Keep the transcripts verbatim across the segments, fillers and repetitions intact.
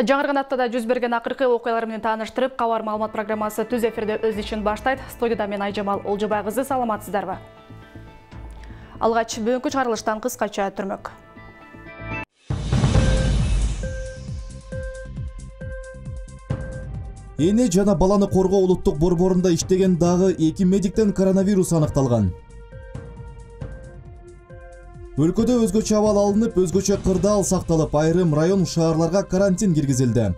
Жаңырган аптада жүз берген акыркы окуялар менен тааныштырып, кабар маалымат программасы түз эфирде өз ишин баштайт. Студияда мен Айжамал Олжобай кызы, саламатсыздарбы? Алгач бүгүнкү чыгарылыштан кыскача түрмөк. Эне жана баланы коргоо улуттук борборунда иштеген дагы эки медиктен коронавирус аныкталган. Өлкөдө өзгөчө абал алынып, өзгөчө кырдаал сакталып, айрым район шаарларга карантин киргизилди.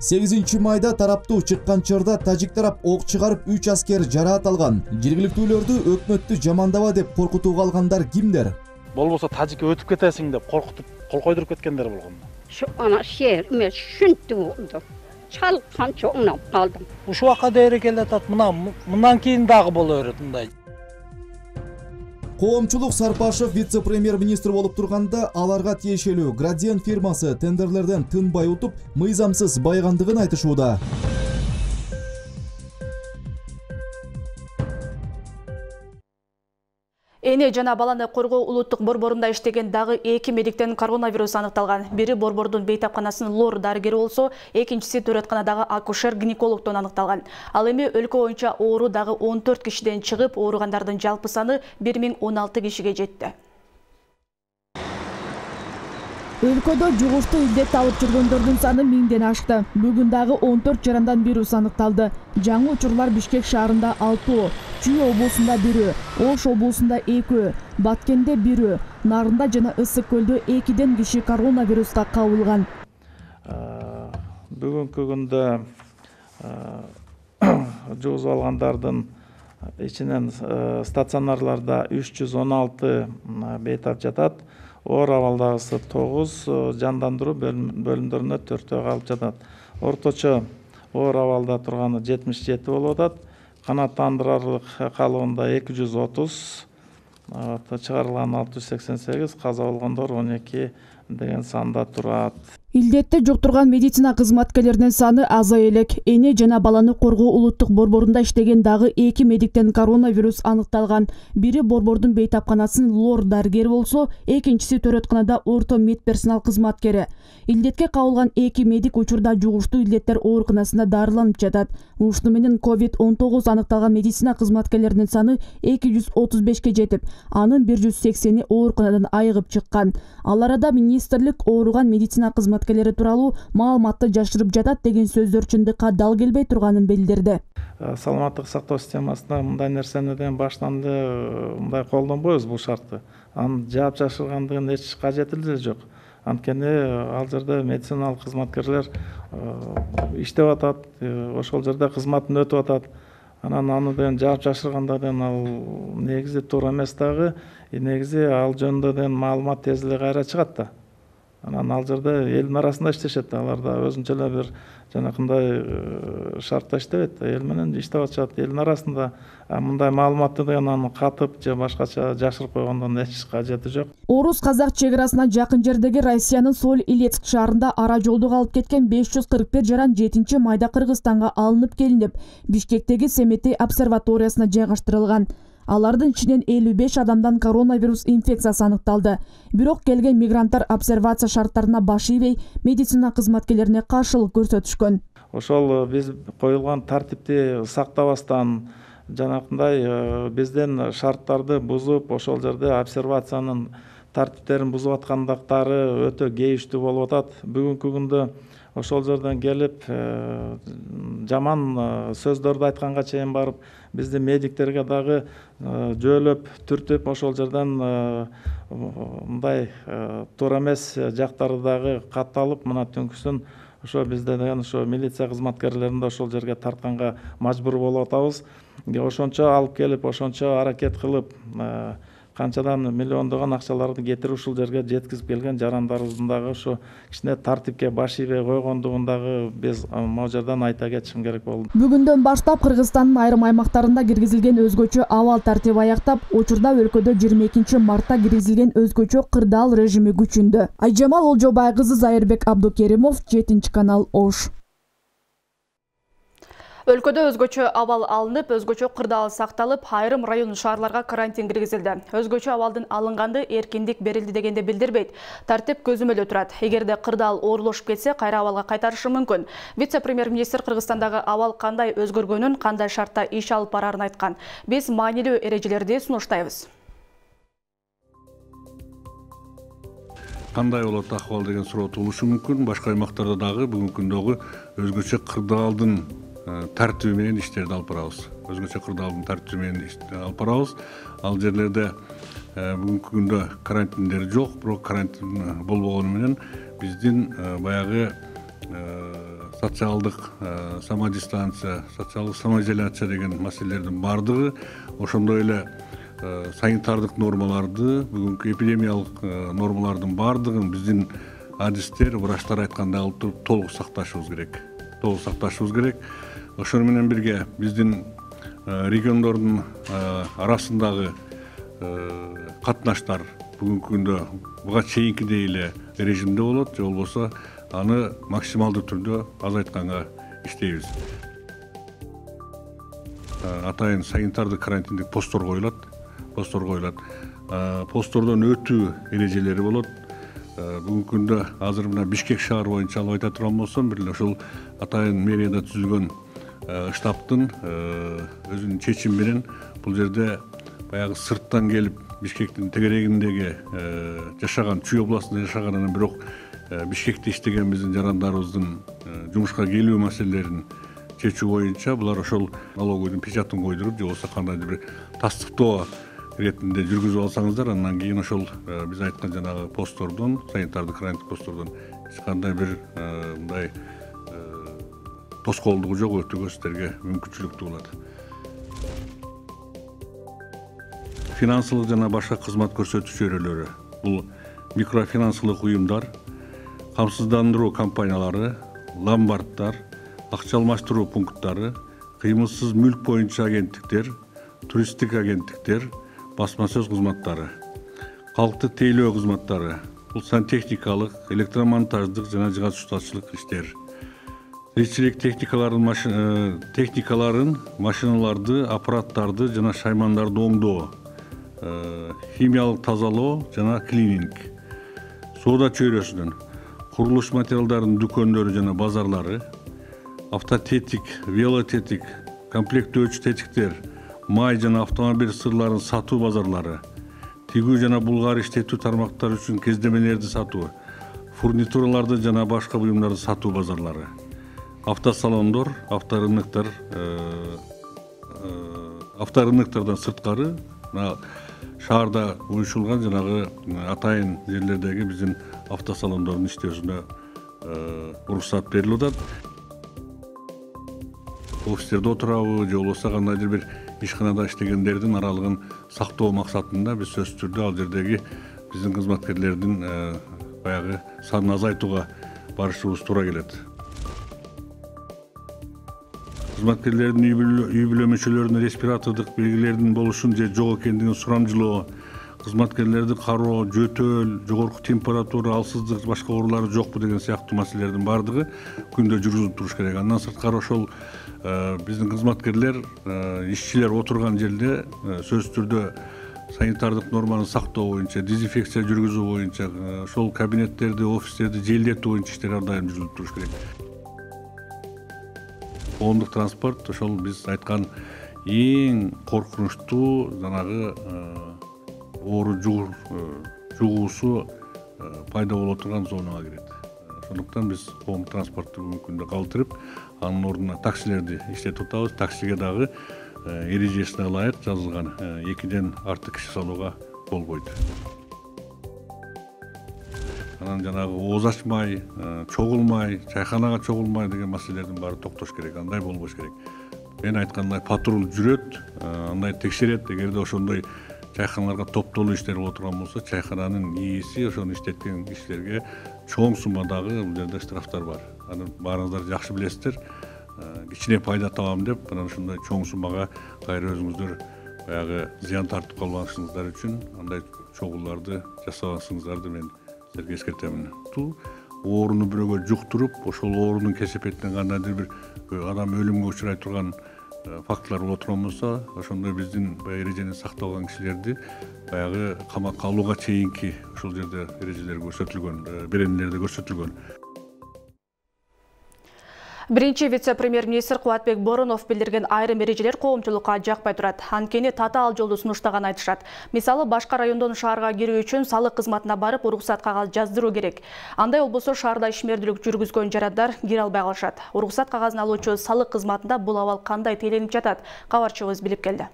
сегизинчи майда тараптуу чыккан чорда тажик тарап ок чыгарып үч аскер жараат алган. Жергиликтүүлөрдү өкмөттү жамандаба деп коркутууга алгандар кимдер? Болбосо тажикке өтүп кетесиң деп коркутуп, кол койдуруп кеткендер болгон. Şu ana şehir me şuntu oldu. Çalkan çoğundan kaldım. Uşu vaka değeri kelletат мына мындан кийин дагы боло берет мындай. Коомчулук Сарпашев вице-премьер-министр болуп турганда аларга тиешелүү Градиен фирмасы тендерлерден тынбай утуп, мыйзамсыз байгандыгын айтышууда. Эне жана баланы коргоо улуттук борборунда иштеген дагы эки медиктен коронавирус аныкталган. Бири борбордун бейтапканасынын лор дарыгери болсо, экинчиси төрөтканадагы акушер-гинекологдон аныкталган. Ал эми өлкө боюнча оору дагы он төрт кишиден чыгып, ооругандардын жалпы саны бир миң он алты кишиге жетти. Өлкөдө жугуштуу илдет алып жүргөндөрдүн саны миңден ашты. Бүгүн дагы он төрт жарандан вирус аныкталды. Жаңы учурлар Бишкек шаарында алтоо, Чүй облусунда бирөө, Ош облусунда экөө, Баткенде бирөө, Нарында жана Ысык көлдө экиден киши коронавируска кабылган. Бүгүнкү күндө жугузуп алгандардын ичинен стационарларда үч жүз он алты бейтап жатат. Оор абалдагысы тогуз, жандандыруу бөлүмдөрүнө төртөө калып жатат. Орточо оор абалда турганы жетимиш жети болуп атат. Канааттандырарлык калыбында эки жүз отуз, чыгарылган алты жүз сексен сегиз, каза болгондор он эки деген санда турат. Илдетти жуктурган медицина кызматкерлеринин саны азай элек. Эне жана баланы коргоо улуттук борборунда иштеген дагы эки медиктен коронавирус аныкталган. Бири борбордун бейтапканасынын лор дарыгери болсо, экинчиси төрөтканада орто медперсонал кызматкери. Илдетке кабылган эки медик учурда жугуштуу илдеттер ооруканасында дарыланып жатат. Ушуну менен ковид он тогуз аныкталган медицина кызматкерлеринин саны эки жүз отуз бешке жетип, анын бир жүз сексени ооруканадан айыгып чыккан. Ал арада министрлик ооруган медицина кызматкерлери тууралуу маалыматты жашырып жатат деген сөздөр чындыкка дал келбей турганын билдирди. Саламаттык сактоо системасында мындай нерсени ден баштан эле мындай колдонбойбуз бул шартты. Анын жаап жашыргандыгын эч кажети эле жок. Анткени ал жерде медициналык кызматкерлер иштеп атат, ошол жерде кызматын өтүп атат. Анан аны деген жаап жашыргандардан ал негизи туура эмес дагы, негизи ал жөнүндө деген маалымат тез эле кайра чыгат да. Анан ал жерде элдин арасында иштешет, алар да өзүнчө эле бир жанакындай шартта иштебейт, эл менен иштеп атышат, элдин арасында. Мындай маалыматты деген аны катып же башкача жашырып койгондон эч кажети жок. Орус-казак чек арасына жакын жердеги Россиянын Соль-Илецк шаарында ара жолду калып кеткен беш жүз кырк бир жаран жетинчи майда Кыргызстанга алынып келинип, Бишкектеги Семетей обсерваториясына жайгаштырылган. Алардын ичинен элүү беш адамдан коронавирус инфекциясы аныкталды. Бирок келген мигранттар обсервация шарттарына баш ийбей, медицина кызматкерлерине каршылык көрсөтүшкөн. Ошол биз коюлган тартипти сактабастан, жанакындай бизден шарттарды бузуп, ошол жерде обсервациянын тартиптерин бузуп аткандыктары өтө кейиштүү болуп атат. Бүгүнкү күндө ошол жерден келип жаман сөздөрдү айтканга чейин барып, бизди медиктерге дагы жөөлөп, түртүп, ошол жерден мындай туура эмес жактары дагы катталып, мына түнкүсүн ошо бизде деген ошо милиция кызматкерлерин да ошол жерге тартканга мажбур болуп атабыз. Ошончо алып келип, ошончо аракет кылып, канчадан миллиондогон акчаларды кетирип ушул жерге жеткизип келген жарандарыбыздын дагы ошо кичине тартипке баш ийбей койгондугун дагы биз могу жерден айта кетишим керек болду. Бүгүндөн баштап Кыргызстандын айрым аймактарында киргизилген өзгөчө абал тартиби аяктап, учурда өлкөдө жыйырма экинчи мартта киргизилген өзгөчө кырдаал режими күчүндө. Айжамал Олжобай кызы, Зайырбек Абдукеримов, жетинчи канал, Ош. Өлкөдө өзгөчө абал алынып, өзгөчө кырдаал сакталып, айрым район шаарларга карантин киргизилди. Өзгөчө абалдын алынганды эркиндик берилди дегенде билдирбейт. Тартип көзөмөлдө турат. Эгерде кырдаал оорулашып кетсе, кайра абалга кайтарышы мүмкүн. Вице-премьер-министр Кыргызстандагы абал кандай өзгөргөнүн, кандай шартта иш алып барарын айткан. Биз маанилүү эрежелерди сунуштайбыз. Кандай болот акыбал деген суроо туулушу мүмкүн. Башка аймактарда дагы бүгүнкү күндөгү өзгөчө кырдаалдын тартиби менен иштерди алып барабыз. Өзгөчө кырдаалдын тартиби менен иштерди алып барабыз. Ал жерлерде бүгүнкү күндө карантиндер жок, бирок карантин болбогону менен биздин баягы социалдык самодистанция, социалдык самоизоляция деген маселелердин бардыгы, ошондой эле санитардык нормаларды, бүгүнкү эпидемиялык нормалардын бардыгын биздин адистер, врачтар айткандай алып туруп толук сакташыбыз керек. Толук сакташыбыз керек. Ошону менен бирге биздин региондордун арасындагы катнаштар бүгүнкү күндө буга чейинкидей эле режимде болот, же болбосо аны максималдуу түрдө азайтканга иштейбиз. Атайын санитардык карантиндик посттор коюлат. Посттор коюлат. Посттордон өтүү эрежелери болот. Бүгүнкү күндө азыр мына Бишкек шаар боюнча алып айта турган болсом, бир эле ушул атайын мэрияда түзүлгөн штабтын өзүнүн чечими менен бул жерде баягы сырттан келип Бишкектин тегерегиндеги жашаган, Чүй областында жашаган, анан бирок Бишкекте иштеген биздин жарандарыбыздын жумушка келүү маселелерин чечүү боюнча булар ошол налоговыйдын печатын койдуруп, же болбосо кандайдыр бир тастыктоо иретинде жүргүзүп алсаңыздар, андан кийин ошол биз айткан жанагы посттордон, санитардык карантин посттордон эч кандай бир мындай тоскоолдугу жок, өтүүгө сиздерге мүмкүнчүлүк туулат. Финансылык жана башка кызмат көрсөтүү чөйрөлөрү. Бул микрофинансылык уюмдар, камсыздандыруу компаниялары, ломбарддар, акча алмаштыруу пункттары, кыймылсыз мүлк боюнча агенттиктер, туристтик агенттиктер, басма сөз кызматтары, калкты тейлөө кызматтары, бул сантехникалык, электромонтаждык жана жыгач-устачылык иштер. Тиричилик техникаларын, техникаларын, машиналарды, аппараттарды жана шаймандарды оңдоо, химиялык тазалоо жана клининг, соода чөйрөсүнүн, курулуш материалдарынын дүкөндөрү жана базарлары, автотетик, велотетик, комплектөөчү тетиктер, май жана автомобиль сырларын сатуу базарлары, тигүү жана булгар иштетүү тармактары үчүн кездемелерди сатуу, фурнитураларды жана башка буюмдарды сатуу базарлары, автосалондор, авторынктар, авторынктардан сырткары шаарда уюшулган жанагы атайын жерлердеги биздин автосалондордун иштөөсүнө уруксат берилип атат. Офистерде отурабы, же болбосо кандайдыр бир ишканада иштегендердин аралыгын сактоо максатында биз сөзсүз түрдө ал жердеги биздин кызматкерлердин баягы санын азайтууга барышыбыз туура келет. Кызматкерлердин үй бүлө мүчөлөрүнө респиратордук белгилердин болушун же жок экендигин сурамжылоо, кызматкерлерди кароо, жөтөл, жогорку температура, алсыздык, башка оорулары жокпу деген сыяктуу маселелердин бардыгы күндө жүргүзүлүп туруш керек. Андан сырткары ошол биздин кызматкерлер, ишчилер отурган жерде сөзсүз түрдө санитардык норманы сактоо боюнча, дезинфекция жүргүзүү боюнча, ошол кабинеттерди, офистерди желдетүү боюнча иштер ар дайым жүргүзүлүп туруш керек. Коомдук транспорт ошол биз айткан эң коркунучтуу жанагы оору жугуусу пайда боло турган зонага кирет. Ошондуктан биз коомдук транспортту бүгүнкү күндө калтырып, анын ордуна таксилерди иштетип атабыз. Таксиге дагы эрежесине ылайык жазылган экиден артык киши салууга болбойт. Анан жанагы ооз ачмай, чогулмай, чайханага чогулмай деген маселелердин баары токтош керек, андай болбош керек. Мен айткандай патруль жүрөт, андай текшерет. Эгерде ошондой чайханаларга топтолуу иштер боло турган болсо, чайхананын ээси ошону иштеткен кишилерге чоң суммадагы бул жерде штрафтар бар. Аны баарыңыздар жакшы билесиздер. Кичине пайда табам деп, анан ушундай чоң суммага кайра өзүңүздөр баягы зыян тартып калбашыңыздар үчүн андай чогуларды жасабасыңыздарды мен силерге эскертемин. ооруну бирөөгө жуктуруп, ошол оорунун кесепетинен кандайдыр бир адам өлүмгө учурай турган фактылар боло турган болсо, ошондо биздин баягы эрежени сактабаган кишилерди баягы камакка алууга чейинки ошол жерде эрежелер көрсөтүлгөн, беренелерде көрсөтүлгөн. Биринчи вице-премьер-министр Кубатбек Боронов билдирген айрым эрежелер коомчулукка жакпай турат. Анткени татаал жолду сунуштаган айтышат. Мисалы, башка райондон шаарга кирүү үчүн салык кызматына барып, уруксат кагаз жаздыруу керек. Андай болбосо шаарда ишмердүүлүк жүргүзгөн жарандар кире албай калышат. Уруксат кагазын алуучу салык кызматында бул абал кандай тейленип жатат? Кабарчыбыз билип келди.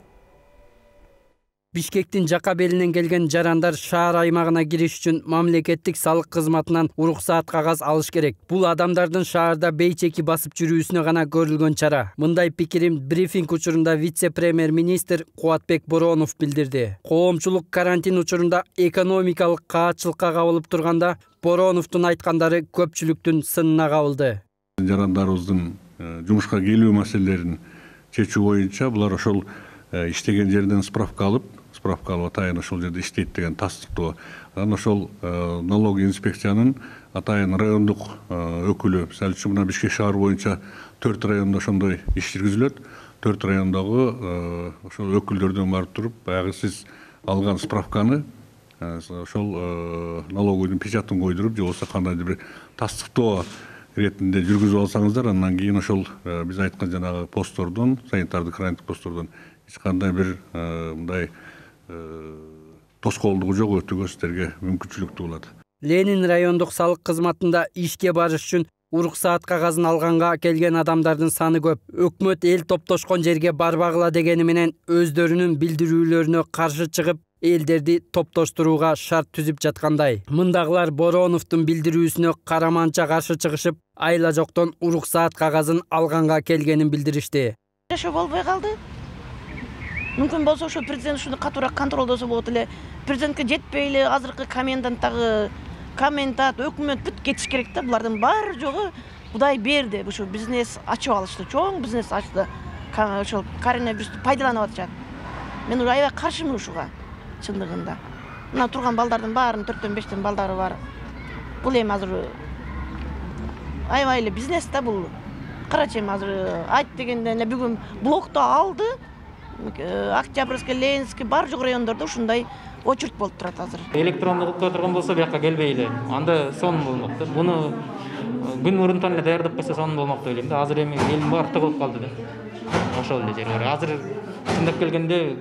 Бишкектин жака белинен келген жарандар шаар аймагына кириш үчүн мамлекеттик салык кызматынан уруксаат кагаз алыш керек. Бул адамдардын шаарда бейчеки басып жүрүүсүнө гана көрүлгөн чара. Мындай пикирин брифинг учурунда вице-премьер-министр Кубатбек Боронов билдирди. Коомчулук карантин учурунда экономикалык каатчылыкка кабылып турганда Бороновдун айткандары көпчүлүктүн сынына кабылды. Жарандарыбыздын жумушка келүү маселелерин чечүү боюнча булар ошол иштеген жерден справка алып, справка алып атайын ошол жерде иштейт деген тастыктоо. Анан ошол налог инспекциянын атайын райондук өкүлү, мисалы үчүн мына Бишкек шаар боюнча төрт райондо ошондой иш жүргүзүлөт. төрт райондогу ошол өкүлдөрдөн барып туруп, баягы сиз алган справканы ошол налоговойдун печатын койдуруп, же болбосо кандайдыр бир тастыктоо иретинде жүргүзүп алсаңыздар, андан кийин ошол биз айткан жанагы посттордон, санитардык карантин посттордон эч кандай бир мындай тоскоолдугу жок, өтүүгө сиздерге мүмкүнчүлүктүү болот. Ленин райондук салык кызматында ишке барыш үчүн уруксаат кагазын алганга келген адамдардын саны көп. Өкмөт эл топтошкон жерге барбагыла дегени менен өздөрүнүн билдирүүлөрүнө каршы чыгып, элдерди топтоштурууга шарт түзүп жаткандай. Мындагылар Бороновдун билдирүүсүнө караманча каршы чыгышып, айла жоктон уруксаат кагазын алганга келгенин билдиришти. Жашоо болбой калды. Мүмкүн болсо ошо президент ушуну катуураак контролдосо болот эле. Президентке жетпей эле азыркы коменданттагы комендант, өкмөт бүт кетиш керек да. Булардын баары жогу Кудай берди. Ошо бизнес ачып алышты, чоң бизнес ачты. Ошол коронавирусту пайдаланып атышат. Мен уже аябай каршымын ушуга, чындыгында. Мына турган балдардын баарынын төрттөн бештен балдары бар. Бул эми азыр аябай эле бизнес да бул. Карачы эми азыр айт дегенде эле бүгүн блокто алды. Октябрьский, Ленинский бар жок райондордо ушундай очередь болуп турат азыр. Электрондук кылып турган болсо бияка келбей эле. Анда сон болмок да. Буну күн мурунтан эле даярдап койсо сон болмок деп ойлойм да. Азыр эми элдин баары тыгылып калды да. Ошол эле жер бар. Азыр чындап келгенде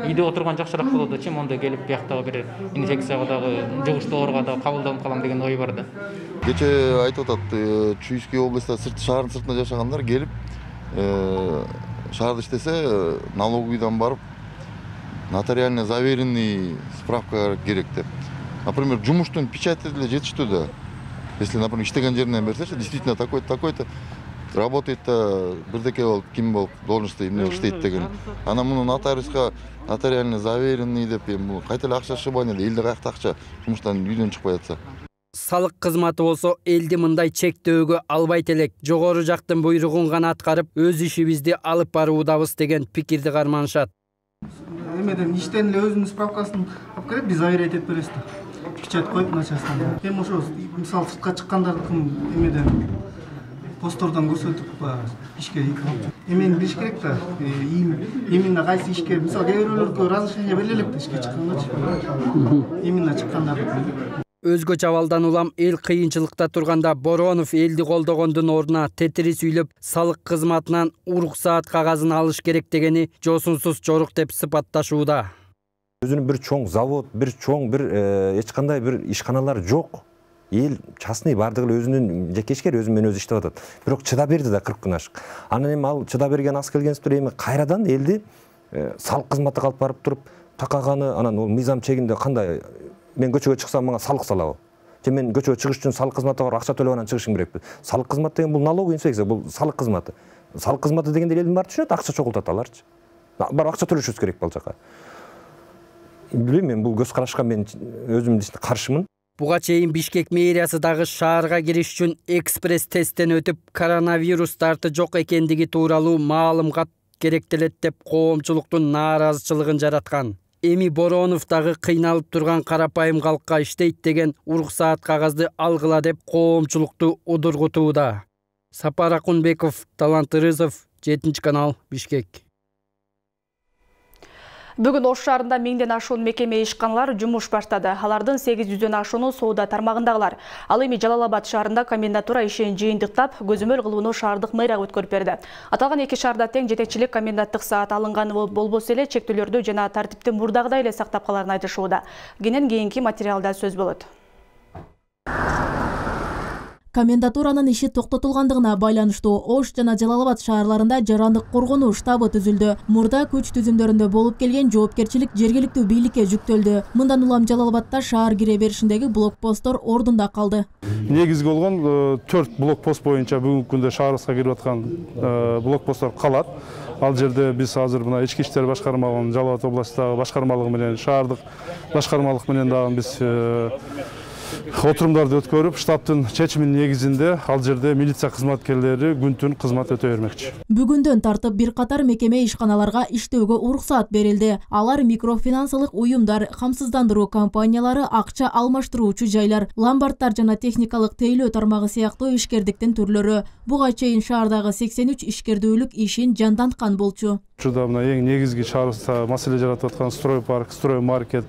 үйдө отурган жакшыраак болот чем онда келип бияктагы бир инфекцияга дагы жугуштуу ооруга дагы кабылданып калам деген ой бар да. Кече айтып атат, Чуйский областта сырт шаардын сыртында жашагандар келип шаарда иштесе налоговыйдан барып нотариально заверенный справка керек деп. Например, жумуштун печати деле жетиштүү да. Если, например, иштеген жеринен берсечи, действительно такой-то, такой-то работает-то бирдеке болуп, ким болуп, должностьта эмне иштейт деген. Анан муну нотариуска нотариально заверенный деп, эми кайта эле акча шыбан эле, элде каякта акча жумуштан үйдөн чыкпай атса. Салык кызматы болсо элди мындай чектөөгө албайт элек. Жогору жактын буйругун гана аткарып, өз ишибизди алып баруудабыз деген пикирди карманышат. Эмеден иштен эле өзүнүн справкасын алып келип, биз заверять этип беребиз да. Печать коюп начальстводан. Эми ошо мисалы сыртка чыккандардыкын эмеден постордон көрсөтүп ишке эмени билиш керек да. Именно кайсы ишке, мисалы кээ бирөөлөргө разрешение бериле элек да ишке чыккангачы. Именно чыккандардыкын. Өзгөчө абалдан улам эл кыйынчылыкта турганда Боронов элди колдогондун ордуна тетири сүйлөп салык кызматынан уруксаат кагазын алыш керек дегени жосунсуз жорук деп сыпатташууда. Өзүнүн бир чоң завод, бир чоң бир эч кандай бир ишканалар жок. Эл частный бардыгы эле өзүнүн жекешкер өзү менен өзү иштеп атат. Бирок чыда берди да кырк күн ашык. Анан эми ал чыда берген аз келгенсиптер эми кайрадан элди салык кызматына алып барып туруп такаганы, анан ол мыйзам чегинде кандай мен көчөгө чыксам мага салык салабы? Же мен көчөгө чыгыш үчүн салык кызматына барып акча төлөп анан чыгышым керекпи? Салык кызматы деген бул налоговый инспекция, бул салык кызматы. Салык кызматы дегенде элдин баары түшүнөт, акча чогултат аларчы. Барып акча төлөшүбүз керек бул жака. Билбейм, мен бул көз карашка мен өзүм каршымын. Буга чейин Бишкек мэриясы дагы шаарга кириш үчүн экспресс тесттен өтүп, коронавирус дарты жок экендиги тууралуу маалымат керектелет деп коомчулуктун нааразычылыгын жараткан. Эми Боронов дагы кыйналып турган карапайым калкка иштейт деген уруксаат кагазды алгыла деп коомчулукту удургутууда. Сапар Акунбеков, Талант Ырызов, жетинчи канал, Бишкек. Бүгүн Ош шаарында миңден ашуун мекеме ишканалар жумуш баштады. Алардын сегиз жүздөн ашууну соода тармагындагылар. Ал эми Жалал-Абад шаарында комендатура ишин жыйынтыктап, көзөмөл кылууну шаардык мэрия өткөрүп берди. Аталган эки шаарда тең жетекчилик коменданттык саат алынганы болбосо эле чектөөлөрдү жана тартипти мурдагыдай эле сактап каларын айтышууда. Кенен кийинки материалда сөз болот. Комендатуранын иши токтотулгандыгына байланыштуу Ош жана Жалал-Абад шаарларында жарандык коргонуу штабы түзүлдү. Мурда күч түзүмдөрүндө болуп келген жоопкерчилик жергиликтүү бийликке жүктөлдү. Мындан улам Жалал-Абадта шаар кире беришиндеги блокпосттор ордунда калды. Негизги болгон төрт блокпост боюнча бүгүнкү күндө шаарыбызга кирип аткан блокпосттор калат. Ал жерде биз азыр мына ички иштер башкармалыгынын Жалал-Абад областындагы башкармалыгы менен шаардык башкармалык менен дагы биз отурумдарды өткөрүп, штабтын чечиминин негизинде ал жерде милиция кызматкерлери күн-түн кызмат өтө бермекчи. Бүгүндөн тартып бир катар мекеме ишканаларга иштөөгө уруксаат берилди. Алар микрофинансылык уюмдар, камсыздандыруу компаниялары, акча алмаштыруучу жайлар, ломбарддар жана техникалык тейлөө тармагы сыяктуу ишкердиктин түрлөрү. Буга чейин шаардагы сексен үч ишкердүүлүк ишин жанданткан болчу. Учурда мына эң негизги шаарыбызда маселе жаратып аткан строй парк, строй маркет,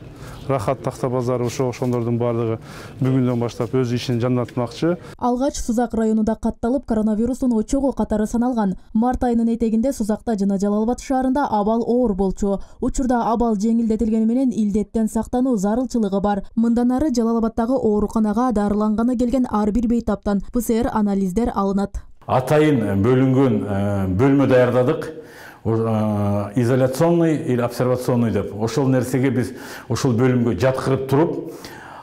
рахат такта базары ошо ошондордун баардыгы бүгүндөн баштап өз ишин жандантмакчы. Алгач Сузак районунда катталып, коронавирустун очогу катары саналган. Март айынын этегинде Сузакта жана Жалал-Абад шаарында абал оор болчу. Учурда абал жеңилдетилгени менен илдеттен сактануу зарылчылыгы бар. Мындан ары Жалал-Абадтагы ооруканага дарыланганы келген ар бир бейтаптан П С Р анализдер алынат. Атайын бөлүнгөн бөлмө даярдадык. Изоляционный или обсервационный деп. Ошол нерсеге биз ошол бөлүмгө жаткырып туруп,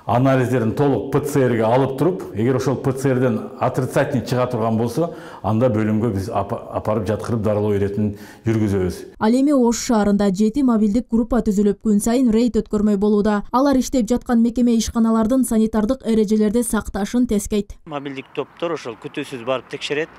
анализдерин толук П Ц Р'ге алып туруп, эгер ошол П Ц Р'ден отрицательный чыга турган болсо, анда бөлүмгө биз апарып жаткырып дарылоо иретин жүргүзөбүз. Ал эми Ош шаарында жети мобилдик группа түзүлүп, күн сайын рейд өткөрмөй болууда. Алар иштеп жаткан мекеме ишканалардын санитардык эрежелерди сакташын тескейт. Мобилдик топтор ошол күтүүсүз барып текшерет.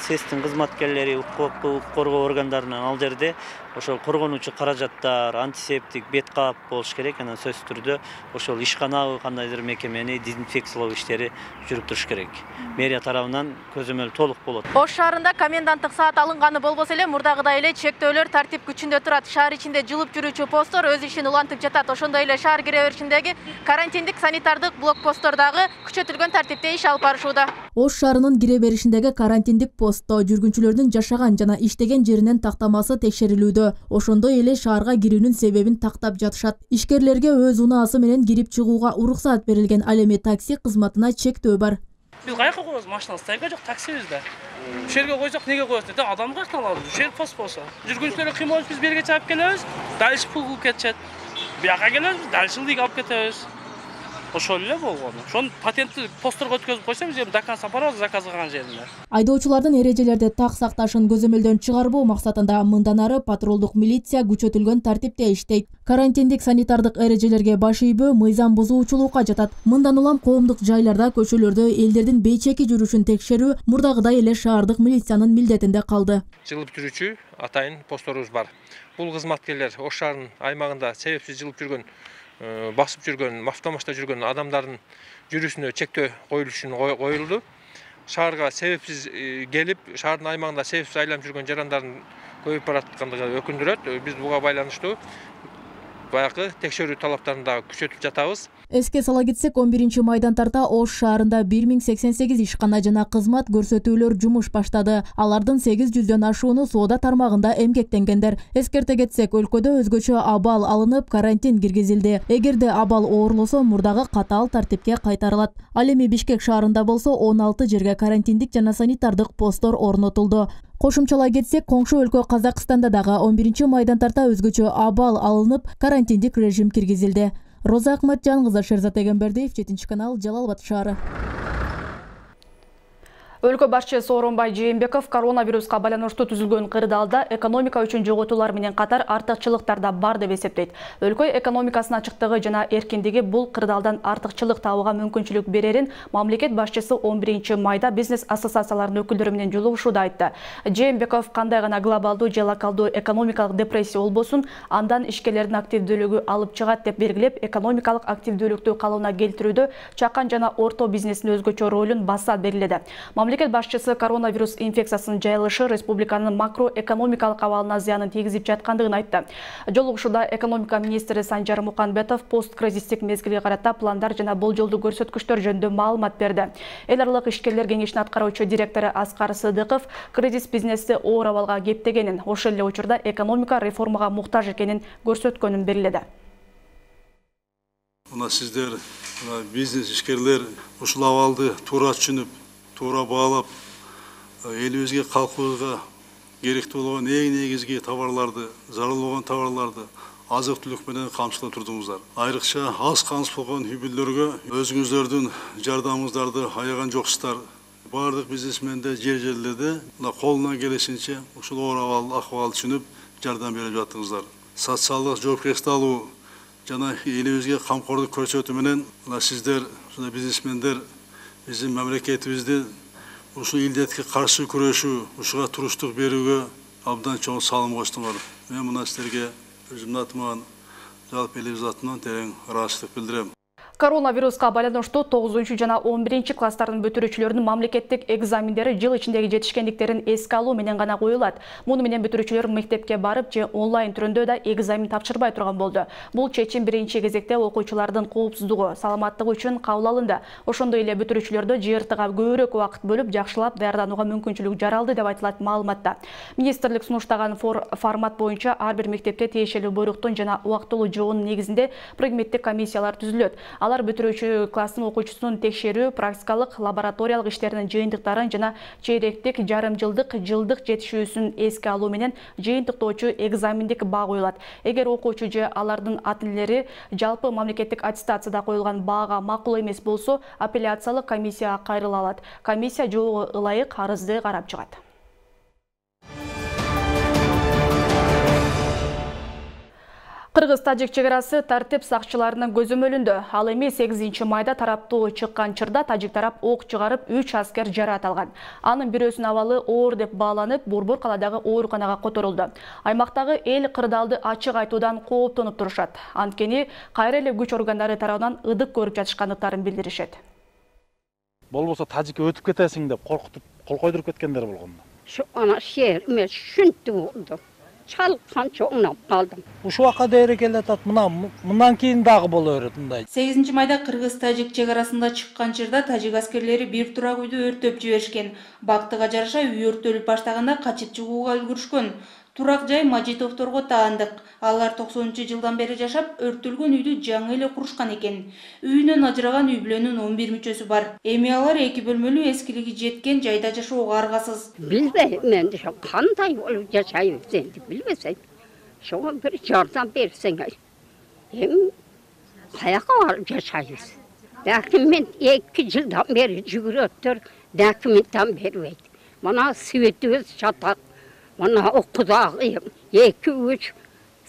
СЭСтин кызматкерлери, укук коргоо органдарынан ал жерде ошол коргонуучу каражаттар, антисептик, бет кап болуш керек. Анан сөзсүз түрдө ошол ишканабы кандайдыр мекемени дезинфекциялоо иштери жүрүп туруш керек. Мэрия тарабынан көзөмөл толук болот. Ош шаарында коменданттык саат алынганы болбосо эле мурдагыдай эле чектөөлөр тартип күчүндө турат. Шаар ичинде жылып жүрүүчү посттор өз ишин улантып жатат. Ошондой эле шаар кире беришиндеги карантиндик санитардык блокпосттор дагы күчөтүлгөн тартипте иш алып барышууда. Ош шаарынын кире беришиндеги карантиндик постто жүргүнчүлөрдүн жашаган жана иштеген жеринен тактамасы текшерилүүдө. Ошондой эле шаарга кирүүнүн себебин тактап жатышат. Ишкерлерге өз унаасы менен кирип чыгууга уруксаат берилген. Ал эми такси кызматына чектөө бар. Биз кайка коебуз машина, стайга жок, таксибизде. Ушул жерге койсок, неге коебуз деп, адам каяктан алабыз? Ушул жер пост болсо. Жүргүнчүлөргө кыймылып биз берге чаап келебиз, дальше пул кылып кетишет. Бияка келебиз, дальше ылдыйга алып кетебиз. Ошол эле болгону. Ошону патентти постторго өткөзүп койсо, биз эми до конца барабыз заказ кылган жерине. Айдоочулардын эрежелерди так сакташын көзөмөлдөн чыгарбоо максатында мындан ары патрулдук милиция күчөтүлгөн тартипте иштейт. Карантиндик санитардык эрежелерге баш ийбөө мыйзам бузуучулукка жатат. Мындан улам коомдук жайларда, көчөлөрдө элдердин бейчеки жүрүшүн текшерүү мурдагыдай эле шаардык милициянын милдетинде калды. Жылып жүрүүчү атайын постторубуз бар. Бул кызматкерлер Ош шаарынын аймагында себепсиз жылып жүргөн, басып жүргөн, автомашта жүргөн адамдардын жүрүшүнө чектөө коюлуш үчүн коюлду. Шаарга себепсиз келип, шаардын аймагында себепсиз айланып жүргөн жарандардын көбөйүп бараткандыгы өкүндүрөт. Биз буга байланыштуу баягы текшерүү талаптарын дагы күчөтүп жатабыз. Эске сала кетсек, он биринчи майдан тарта Ош шаарында бир миң сексен сегиз ишкана жана кызмат көрсөтүүлөр жумуш баштады. Алардын сегиз жүздөн ашууну соода тармагында эмгектенгендер. Эскерте кетсек, өлкөдө өзгөчө абал алынып, карантин киргизилди. Эгерде абал оорлосо, мурдагы катаал тартипке кайтарылат. Ал эми Бишкек шаарында болсо он алты жерге карантиндик жана санитардык посттор орнотулду. Кошумчалай кетсек, коңшу өлкө Казакстанда дагы он биринчи майдан тарта өзгөчө абал алынып, карантиндик режим киргизилди. Роза Акматжан кызы, Шерзат Эгембердиев, жетинчи канал, Жалал-Абад шаары. Өлкө башчысы Сооронбай Жээнбеков коронавируска байланыштуу түзүлгөн кырдаалда экономика үчүн жоготуулар менен катар артыкчылыктар да бар деп эсептейт. Өлкө экономикасынын ачыктыгы жана эркиндиги бул кырдаалдан артыкчылык табууга мүмкүнчүлүк берерин мамлекет башчысы он биринчи майда бизнес ассоциацияларынын өкүлдөрү менен жолугушууда айтты. Жээнбеков кандай гана глобалдуу же локалдуу экономикалык депрессия болбосун, андан ишкерлердин активдүүлүгү алып чыгат деп белгилеп, экономикалык активдүүлүктү калыбына келтирүүдө чакан жана орто бизнестин өзгөчө ролун баса белгиледи. Мамлекет башчысы коронавирус инфекциясынын жайылышы республиканын макроэкономикалык абалына зыянын тийгизип жаткандыгын айтты. Жолугушууда экономика министри Санжар Муканбетов посткризистик мезгилге карата пландар жана болжолдуу көрсөткүчтөр жөнүндө маалымат берди. Эл аралык ишкерлер кеңешинин аткаруучу директору Аскар Сыдыков кризис бизнести оор абалга кептегенин, ошол эле учурда экономика реформага муктаж экенин көрсөткөнүн белгиледи. Мына сиздер, бизнес ишкерлер ушул абалды туура түшүнүп, туура баалап, элибизге, калкыбызга керектүү болгон эң негизги товарларды, зарыл болгон товарларды азык-түлүк менен камсыздап турдуңуздар. Айрыкча аз камсыз болгон үй бүлөлөргө өзүңүздөрдүн жардамыңыздарды аяган жоксуздар. Бардык бизнесмендер жер-жерлерде колунан келишинче ушул оор абал, акыбалды түшүнүп жардам берип жатыңыздар. Социалдык жоопкерчиликти алуу жана элибизге камкордук көрсөтүү менен сиздер, бизнесмендер биздин мамлекетибизди ушул илдетке каршы күрөшүү, ушуга туруштук берүүгө абдан чоң салым коштуңар. Мен мына силерге өзүмдүн атыман, жалпы элибиз атынан терең ыраазычылык билдирем. Коронавируска байланыштуу тогузунчу жана он биринчи класстардын бүтүрүүчүлөрүнүн мамлекеттик экзамендери жыл ичиндеги жетишкендиктерин эске алуу менен гана коюлат. Муну менен бүтүрүүчүлөр мектепке барып же онлайн түрүндө да экзамен тапшырбай турган болду. Бул чечим биринчи кезекте окуучулардын коопсуздугу, саламаттыгы үчүн кабыл алынды. Ошондой эле бүтүрүүчүлөрдө жи эр тыга көбүрөөк убакыт бөлүп, жакшылап даярданууга мүмкүнчүлүк жаралды деп айтылат маалыматта. Министрлик сунуштаган формат боюнча ар бир мектепте тиешелүү буйруктун жана убактылуу жоонун негизинде предметтик комиссиялар түзүлөт. Алар бүтүрүүчү класстын окуучусунун текшерүү, практикалык, лабораториялык иштеринин жыйынтыктарын жана чейректик, жарым жылдык, жылдык жетишүүсүн эске алуу менен жыйынтыктоочу экзамендик баа коюлат. Эгер окуучу же алардын ата-энелери жалпы мамлекеттик аттестацияда коюлган баага макул эмес болсо, апелляциялык комиссияга кайрыла алат. Комиссия жоого ылайык арызды карап чыгат. Кыргыз-Тажик чегарасы тартип сакчыларынын көзөмөлүндө. Ал эми сегизинчи майда тараптуу чыккан чырда тажик тарап ок чыгарып үч аскер жараат алган. Анын бирөөсүнүн абалы оор деп бааланып, Борбор каладагы ооруканага которулду. Аймактагы эл кырдаалды ачык айтуудан кооптонуп турушат. Анткени кайра эле күч органдары тарабынан ыдык көрүп жатышкандыктарын билдиришет. Болбосо тажикке өтүп кетесиң деп коркутуп, кол койдуруп кеткендер болгон. Şu ana şehir me şuntu oldu. Çalkan çoğunap kaldım. Ушул ака дейре келатат. Мына мындан кийин дагы боло берет мындай. сегизинчи майда Кыргыз-Тажик чегарасында чыккан чырда тажик аскерлери бир турак үйдү өртөп жиберишкен. Бактыга жараша үй өртөлүп баштаганда качып чыгууга үлгүрүшкөн. Турак жай Мажитовторго таандык. Алар токсонунчу жылдан бери жашап, өртөлгөн үйдү жаңы эле курушкан экен. Үйүнөн ажыраган үй бүлөнүн он бир мүчөсү бар. Эми алар эки бөлмөлүү эскилиги жеткен жайда жашоого аргасыз. Билбейм мен şu кандай болуп жашайбыз энди билбесем. Şoğa bir жардам берсеңер. Эми каяка барып жашайбыз. Документ эки жылдан бери жүгүрөттөр, документтен бербейт. Мына светибиз чатак. Мына окудагы эки үч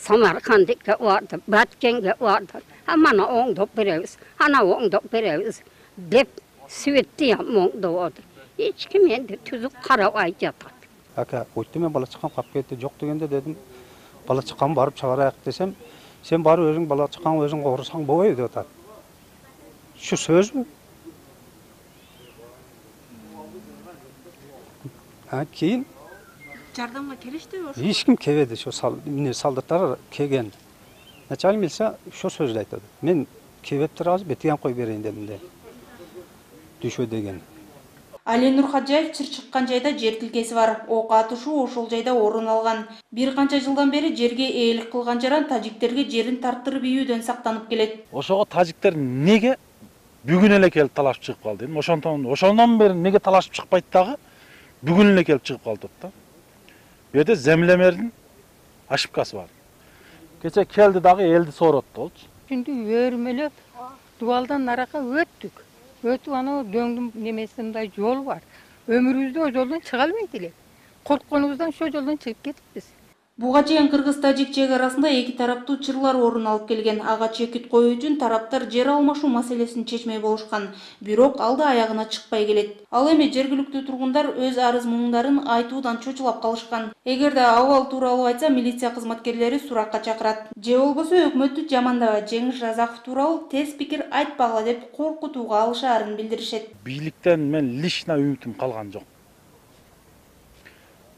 Самаркандыкка барды, Баткенге барды. А мана оңдоп беребиз, ана оңдоп беребиз деп светти оңдоп отур. Эч ким энди түзүк карабай жатат. Ака, өттү мен бала чыккан кап кетти, жок дегенде дедим, бала чыккан барып чыгарайык десем, сен барып өзүң бала чыккан өзүң корусаң болбойбу деп атат. Şu сөзбү? Ha, keyin Жардамга келишти ошо. Эч ким келбеди, ошо сал, эмне солдаттар келген. Начальник милиция ошо сөздү айтат. Мен келбептир азыр бетиген кой берейин дедим де. Düşө деген. Али Нурхаджаев чыр чыккан жайда жер тилкеси бар. Ок атышуу ошол жайда орун алган. Бир канча жылдан бери жерге ээлик кылган жаран тажиктерге жерин тарттырып ийүүдөн сактанып келет. Ошого тажиктер неге бүгүн эле келип талашып чыгып калды? Ошондон ошондон бери неге талашып чыкпайт дагы? Бүгүн эле келип чыгып калды да. Bu yerda zemlemердин ошибкасы бар. Кече келди дагы элди сооротtu болчу. Şimdi өрмөлөп, дуалдан нарака өттүк. Өтүп анау дөңдүн немесинде жол бар. өмүрүбүздө о жолдон чыга албайт элек. Коркконубуздан ошол жолдон чыгып кетиппиз. Буга чейин кыргыз-тажик чек арасында эки тараптуу чырлар орун алып келген. Ага чекит коюу үчүн тараптар жер алмашуу маселесин чечмей болушкан. Бирок ал да аягына чыкпай келет. Ал эми жергиликтүү тургундар өз арыз муңдарын айтуудан чочулап калышкан. Эгерде абал тууралуу айтса, милиция кызматкерлери суракка чакырат. Же болбосо өкмөттү жамандабай, Жеңиш Разаков тууралуу тез пикир айтпагыла деп коркутууга алышаарын билдиришет. Бийликтен мен лично үмүтүм калган жок.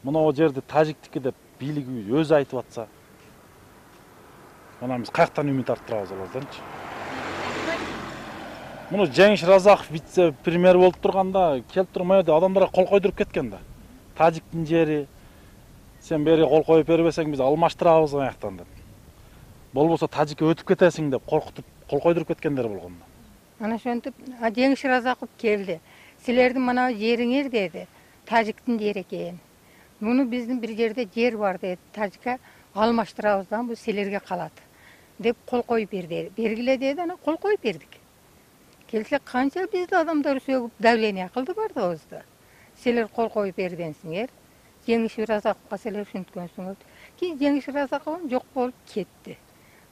Мына о жерде тажиктики деп бийлик өзү айтып атса, мына биз каяктан үмүт арттырабыз аларданчы? Муну Жеңиш Разаков вице-премьер болуп турганда келип туруп моерде адамдарга кол койдуруп кеткен да. Тажиктин жери, сен бери кол коюп бербесең биз алмаштырабыз аяктан деп. Болбосо тажикке өтүп кетесиң деп коркутуп кол койдуруп кеткендер болгон да. Ana ошентип Жеңиш Разаков келди. Силердин мына жериңер деди. Тажиктин жери экен. Муну биздин бир жерде жер бар деди. Тажикка алмаштырабыздан бул силерге калат деп кол коюп берди. Бергиле деди, ана кол коюп бердик. Келсе канча бизди адамдар сөгүп давление кылды бардыгыбызды. Силер кол коюп бергенсиңер. Жеңиш Разаковго силер ушинткөнсүңөр. Кийин Жеңиш Разаков жок болуп кетти.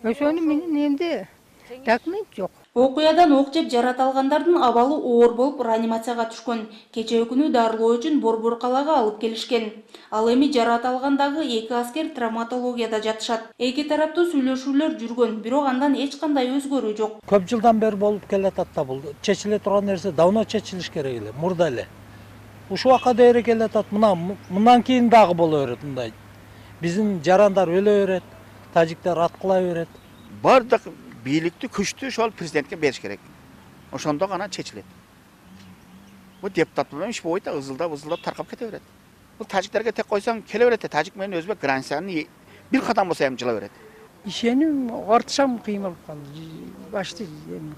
Ошону менен эмди документ жок. Окуядан ок жеп жарата алгандардын абалы оор болуп реанимацияга түшкөн. Кечээ күнү дарылоо үчүн Борбор калаага алып келишкен. Ал эми жарата алгандагы эки аскер травматологияда жатышат. Эки тараптуу сүйлөшүүлөр жүргөн, бирок андан эч кандай өзгөрүү жок. Көп жылдан бери болуп келатат да бул. Чечиле турган нерсе давно чечилиш керек эле, мурда эле. Ушул акка дейре келатат. Мына мындан кийин дагы боло берет мындай. Биздин жарандар өлө берет, тажиктер аткыла берет. Бардык бийликти күчтүү ошол президентке бериш керек. Ошондо гана чечилет. Бул депутат менен иш болбойт, ызылдап ызылдап таркап кете берет. Бул тажиктерге тек койсоң келе берет, тажик менен өзбек границаны бир кадам болсо эми жыла берет. Ишеним артышам кыйын болуп калды. Башты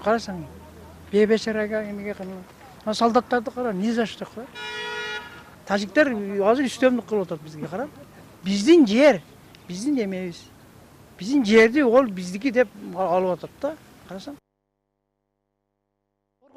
карасаң, бебечарага эмеге кылып. Солдаттарды кара, ни за что кылат. Тажиктер азыр үстөмдүк кылып атат бизге карап. Биздин жер, биздин эмебиз. Биздин жерди ол биздики деп алып атат да. Карасаң.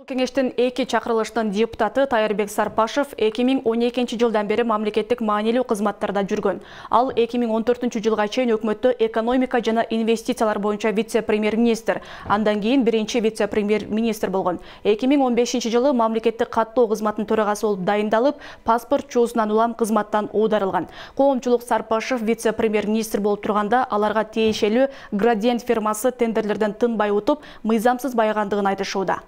Кеңештин эки чакырылыштын депутаты Тайырбек Сарпашев эки миң он экинчи жылдан бери мамлекеттик маанилүү кызматтарда жүргөн. Ал эки миң он төртүнчү жылга чейин өкмөттө экономика жана инвестициялар боюнча вице-премьер-министр, андан кийин биринчи вице-премьер-министр болгон. эки миң он бешинчи жылы мамлекеттик каттоо кызматынын төрагасы болуп дайындалып, паспорт чуусунан улам кызматтан оодарылган. Коомчулук Сарпашев вице-премьер-министр болуп турганда аларга тиешелүү Градиент фирмасы тендерлерден тынбай утуп, мыйзамсыз байгандыгын айтышууда.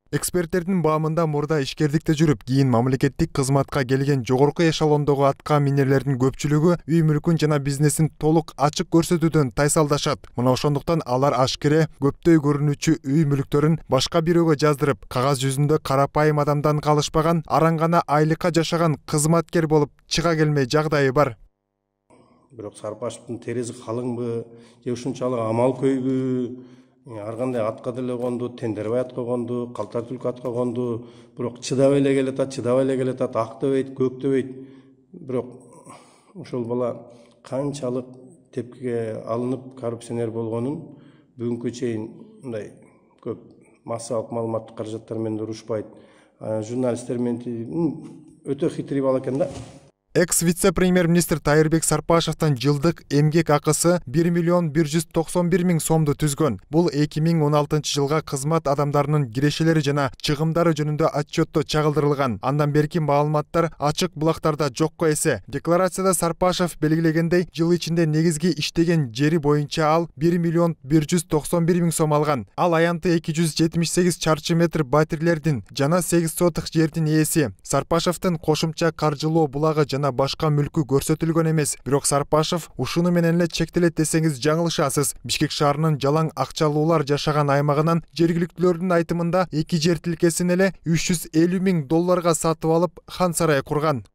Эксперттердин баамында мурда ишкердикте жүрүп, кийин мамлекеттик кызматка келген жогорку эшелондогу атка минерлердин көпчүлүгү үй мүлкүн жана бизнесин толук ачык көрсөтүүдөн тайсалдашат. Мына ошондуктан алар ашкере көптөй көрүнүүчү үй мүлктөрүн башка бирөөгө жаздырып, кагаз жүзүндө карапайым адамдан калышпаган, араң гана айлыкка жашаган кызматкер болуп чыга келмей жагдайы бар. Бирок Сарпашевдин тереси калыңбы, же ушунчалык амал көйбү? Ар кандай атка деле конду, тендербай атка конду, калтар түлкү атка конду, бирок чыдабай эле келатат, чыдабай эле келатат, ак дебейт, көк дебейт. Бирок ошол бала канчалык тепкиге алынып коррупционер болгонун бүгүнкү чейин мындай көп массалык маалыматтык каражаттар менен урушпайт. Журналисттер менен өтө хитрый бала экен да. Экс-вице-премьер-министр Тайырбек Сарпашевдин жылдык эмгек акысы бир миллион бир жүз токсон бир миң сомду түзгөн. Бул эки миң он алтынчы жылга кызмат адамдарынын кирешелери жана чыгымдары жөнүндө отчетто чагылдырылган. Андан берки маалыматтар ачык булактарда жокко эсе. Декларацияда Сарпашев белгилегендей, жыл ичинде негизги иштеген жери боюнча ал бир миллион бир жүз токсон бир миң сом алган. Ал аянты эки жүз жетимиш сегиз чарчы метр батирлердин жана сегиз сотых жердин ээси. Сарпашевдин кошумча каржылоо булагы жана башка мүлкү көрсөтүлгөн эмес. Бирок Сарпашев ушуну менен эле чектелет десеңиз жаңылышасыз. Бишкек шаарынын жалаң акчалуулар жашаган аймагынан жергиликтүүлөрдүн айтымында эки жер тилкесин эле үч жүз элүү миң долларга сатып алып, хан сарай курган.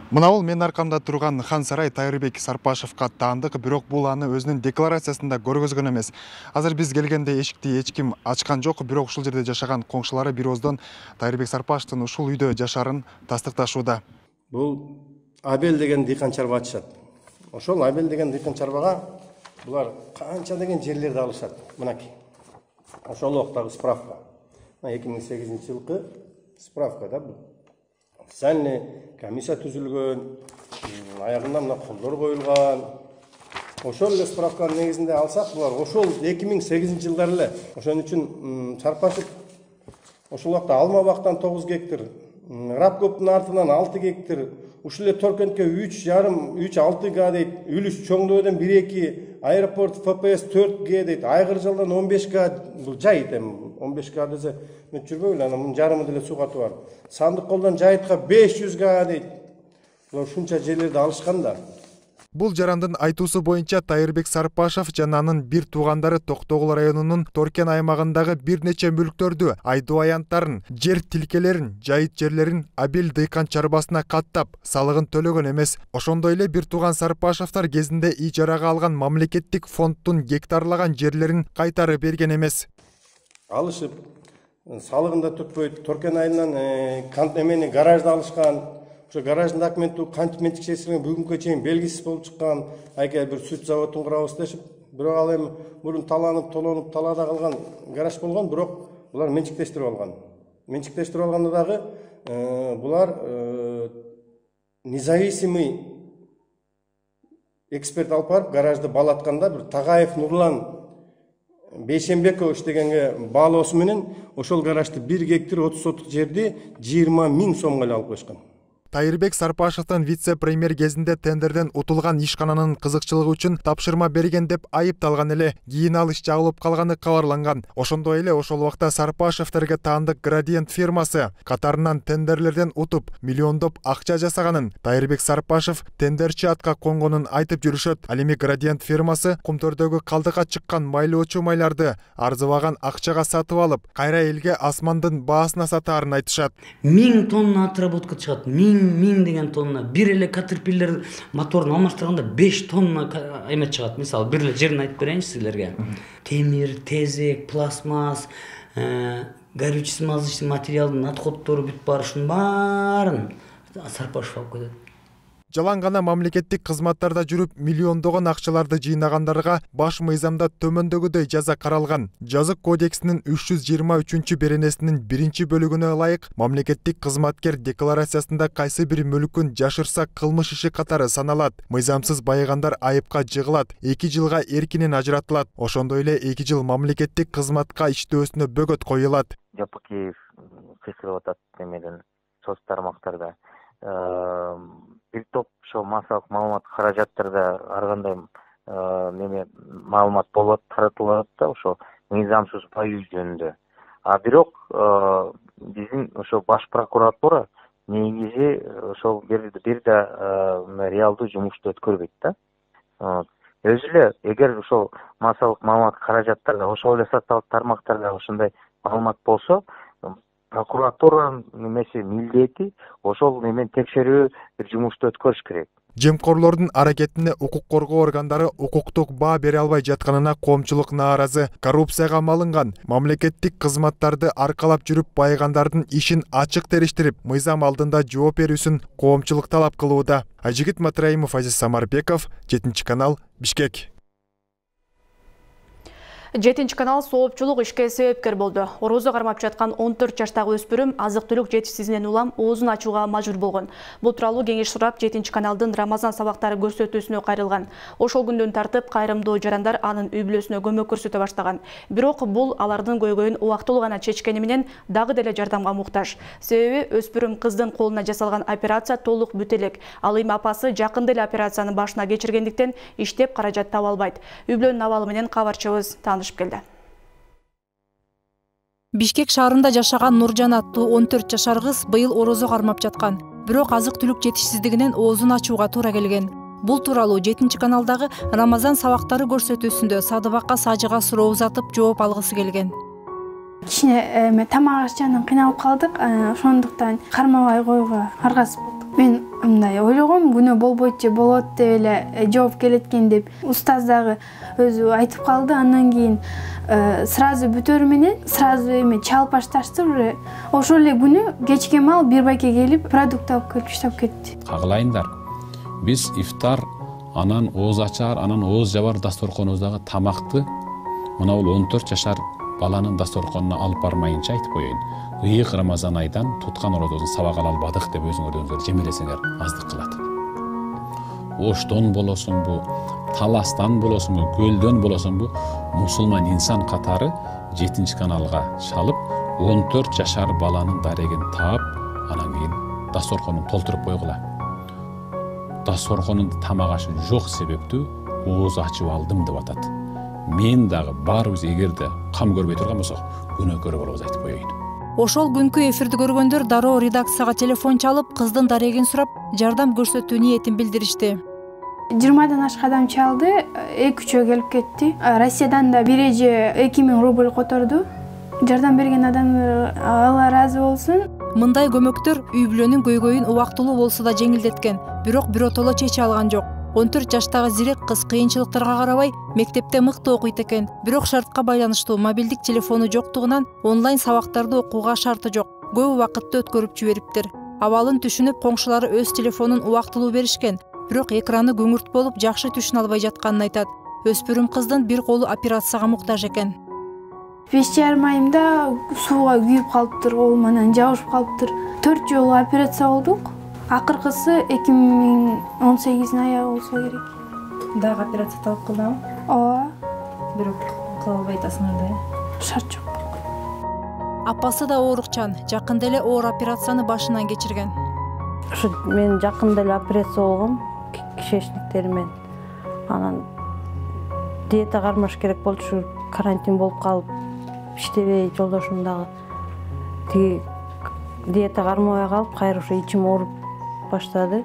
Мына бул менин аркамда турган хан сарай Тайырбек Сарпашевга таандык, бирок бул аны өзүнүн декларациясында көргөзгөн эмес. Азыр биз келгенде эшикти эч ким ачкан жок, бирок ушул жерде жашаган коңшулары бир ооздон Тайырбек Сарпашевдин ушул үйдө жашарын тастыкташууда. Бул Абел деген дыйкан чарба ачышат. Ошол Абел деген дыйкан чарбага булар канча деген жерлерди алышат. Мынакей. Ошол убактагы справка. эки миң сегизинчи жылкы справка да бул. Специальный комиссия түзүлгөн, аягында мына колдор коюлган. Ошол эле справканын негизинде алсак, булар ошол эки миң сегизинчи жылдар эле. Ошон үчүн Сарпашев ошол убакта алма бактан тогуз гектар, Рапкоптун артынан алты гектар, ушул эле Торкентке үч жарым, үч алты га дейт, Үлүс Чоңдөөдөн бир эки, аэропорт эф пэ эс төрт ге дейт, Айгыржалдан он беш га, бул жайыт эми он беш га десе мен жүрбөйлү, анан мунун жарымы деле суу катып бар. Сандык колдон жайытка беш жүз га дейт. Булар ушунча жерлерди алышкан да. Бул жарандын айтуусу боюнча Тайырбек Сарпашев жана анын бир туугандары Токтогул районунун Торкен аймагындагы бир нече мүлктөрдү, айдоо аянттарын, жер тилкелерин, жайыт жерлерин Абел дыйкан чарбасына каттап, салыгын төлөгөн эмес. Ошондой эле бир тууган Сарпашевтар кезинде ижарага алган мамлекеттик фонддун гектарлаган жерлерин кайтарып берген эмес. Алышып, салыгын да түртпөйт, Торкен айынан кант эмени гаражды алышкан. Ошо гараждын документи кантип менчиксештирген бүгүнкү чейин белгисиз болуп чыккан. Айка бир сүт заводун курабыз дешип, бирок ал эми мурун таланып, толонуп, талаада калган гараж болгон, бирок булар менчиктештирип алган. Менчиктештирип алганда дагы булар независимый эксперт алып барып гаражды баалатканда бир Тагаев Нурлан Бейшембекович дегенге баалоосу менен ошол гаражды бир гектар отуз сотук жерди жыйырма миң сомго алып коюшкан. Тайырбек Сарпашевдин вице-премьер кезинде тендерден утулган ишкананын кызыкчылыгы үчүн тапшырма берген деп айыпталган эле. Кийин ал иш жабылып калганы кабарланган. Ошондой эле ошол убакта Сарпашевтерге таандык Градиент фирмасы катарынан тендерлерден утуп миллиондоп акча жасаганын Тайырбек Сарпашев тендерчи атка конгонун айтып жүрүшөт. Ал эми Градиент фирмасы кумтөрдөгү калдыкка чыккан майлоочу майларды арзыбаган акчага сатып алып, кайра элге асмандын баасына сатаарын айтышат. Миң тонна отработка чыгат. Миң миң деген тонна. Бир эле катерпиллер моторун алмаштырганда беш тонна эме чыгат. Мисалы, бир эле жерин айтып берейинчи силерге. Темир, тезек, пластмасс, горючий смазочный материалдын отходдору бүт бар, ушунун баарын Сарпашев алып кетет. Жалаң гана мамлекеттик кызматтарда жүрүп миллиондогон акчаларды жыйнагандарга баш мыйзамда төмөндөгүдөй жаза каралган. Жазык кодексинин үч жүз жыйырма үчүнчү беренесинин биринчи бөлүгүнө ылайык мамлекеттик кызматкер декларациясында кайсы бир мүлкүн жашырса кылмыш иши катары саналат. Мыйзамсыз байыгандар айыпка жыгылат, эки жылга эркинен ажыратылат. Ошондой эле эки жыл мамлекеттик кызматка иштөөсүнө бөгөт коюлат. Жапакиев кыйкырып атат эмеден соц тармактарда. Бир топ ошо массалык маалымат каражаттарда ар кандай неме маалымат болот, таратылат да ошо мыйзамсыз баюу жөнүндө. А бирок биздин ошо баш прокуратура негизи ошол бир да реалдуу жумушту өткөрбөйт да. Өзү эле эгер ошол массалык маалымат каражаттарда ошол эле социалдык тармактарда ошондой маалымат болсо, прокуратуранын немеси милдети ошол немен текшерүү бир жумушту өткөрүш керек. Жемкорлордун аракетине укук коргоо органдары укуктук баа бере албай жатканына коомчулук нааразы. Коррупцияга малынган мамлекеттик кызматтарды аркалап жүрүп байыгандардын ишин ачык териштирип, мыйзам алдында жооп берүүсүн коомчулук талап кылууда. Ажигит Матраимов, Азиз Самарбеков, жетинчи канал, Бишкек. жетинчи канал соопчулук ишке себепкер болду. Орозо кармап жаткан он төрт жаштагы өспүрүм азык-түлүк жетишсиздигинен улам оозун ачууга мажбур болгон. Бул тууралуу кеңеш сурап жетинчи каналдын Рамазан сабактары көрсөтүүсүнө кайрылган. Ошол күндөн тартып кайрымдуу жарандар анын үй бүлөсүнө көмөк көрсөтө баштаган. Бирок бул алардын көйгөйүн убактылуу гана чечкени менен дагы деле жардамга муктаж. Себеби өспүрүм кыздын колуна жасалган операция толук бүт элек. Ал эми апасы жакында эле операциянын башына кечиргендиктен иштеп каражат таба албайт. Үй бүлөнүн абалы менен кабарчыбыз келди. Бишкек шаарында жашаган Нуржан аттуу он төрт жашар кыз быйыл орозо кармап жаткан. Бирок азык-түлүк жетишсиздигинен оозун ачууга туура келген. Бул тууралуу жетинчи каналдагы Рамазан сабактары көрсөтүүсүндө Садыбакка Сажыга суроо узатып жооп алгысы келген. Кичине эме тамак ашчанан кыйналып калдык, ошондуктан кармабай коюуга аргасыз болдук. Мен мындай ойлогом, күнөө болбойт же болот деп эле жооп келет экен деп. Устаз дагы өзү айтып калды. Андан кийин сразу бүтөрү менен сразу эме чалып башташты уже. Ошол эле күнү кечке маал бир байке келип продукт алып келип иштеп кетти. Кагылайындар. Биз ифтар анан ооз ачар, анан ооз жабар дасторконубуздагы тамакты мына бул он төрт жашар баланын дасторконуна алып бармайынча айтып коеюн. Ыйык Рамазан айдан туткан орозобузду сабак ала албадык деп өзүңөр өзүңөр жемелесеңер аздык кылат. Оштон болосуңбу, таластан болосуңбу, көлдөн болосуңбу, мусулман инсан катары жетинчи каналга чалып, он төрт жашар баланын дарегин таап, анан кийин дасторконун толтуруп койгула. Дасторконун тамак ашы жок себептүү ооз ачып алдым деп атат. Мен дагы баарыбыз эгерде кам көрбөй турган болсок, күнөөкөр болобуз айтып коеюн. Ошол күнкү эфирди көргөндөр дароо редакцияга телефон чалып, кыздын дарегин сурап, жардам көрсөтүү ниетин билдиришти. жыйырмадан ашка адам чалды, эки үчөө келип кетти. Россиядан да бир эже эки миң рубль которду. Жардам берген адамдар Алла ыраазы болсун. Мындай көмөктөр үй бүлөнүн көйгөйүн убактылуу болсо да жеңилдеткен, бирок биротоло чече алган жок. он төрт жаштагы зирек кыз кыйынчылыктарга карабай мектепте мыкты окуйт экен, бирок шартка байланыштуу мобилдик телефону жоктугунан онлайн сабактарды окууга шарты жок. Көп убакытты өткөрүп жибериптир. Абалын түшүнүп, коңшулары өз телефонун убактылуу беришкен, бирок экраны көңүрт болуп жакшы түшүнө албай жатканын айтат. Өспүрүм кыздын бир колу операцияга муктаж экен. беш жарым айымда сууга күйүп калыптыр, колум анан жабышып калыптыр. төрт жолу операция болдук. Акыркысы эки миң он сегиздин аягы болсо керек. Дагы операция талап кылдыңбы? Ооба. Бирок кыла албай атасыңар да. Шарт жок. Апасы да оорукчан, жакында эле оор операцияны башынан кечирген. Ушу мен жакында эле операция болгом, кишечниктеримен. Анан диета кармаш керек болчу, ушу карантин болуп калып, иштебей жолдошум дагы тиги диета кармабай калып, кайра ошо ичим ооруп баштады.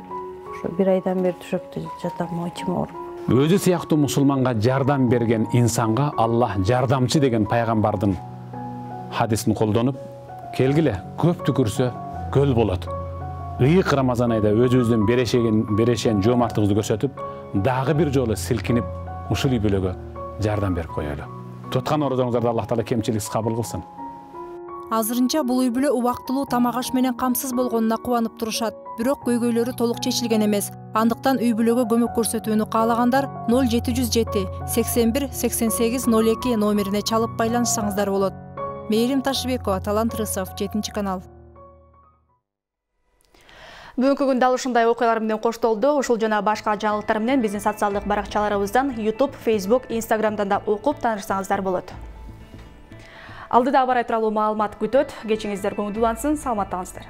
Ошо бир айдан бери төшөктө жатам, ичим ооруп. Өзү сыяктуу мусулманга жардам берген инсанга Аллах жардамчы деген пайгамбардын хадисин колдонуп, келгиле көп түкүрсө көл болот. Ыйык Рамазан айда өзүбүздүн берешеген берешен жоомарттыгыбызды көрсөтүп, дагы бир жолу силкинип ушул үй бүлөгө жардам берип коелу. Туткан орозоңуздарда Аллах Таала кемчиликсиз кабыл кылсын. Азырынча бул үй бүлө убактылуу тамак аш менен камсыз болгонуна кубанып турушат. Бирок көйгөйлөрү толук чечилген эмес. Андыктан үй бүлөгө көмөк көрсөтүүнү каалагандар ноль жети жүз жети сексен бир сексен сегиз ноль эки номерине чалып байланышсаңыздар болот. Мээрим Ташыбекова, Талант Рысов, жетинчи канал. Бүгүнкү күндө ушундай окуялар менен коштолду. Ушул жана башка жаңылыктар менен биздин социалдык баракчаларыбыздан YouTube, Facebook, Instagramдан да окуп таанышсаңыздар болот. Алдыда бар айтыралуу маалымат күтөт. Кечиңиздер көңүлдүү улансын, саламаттаңыздар.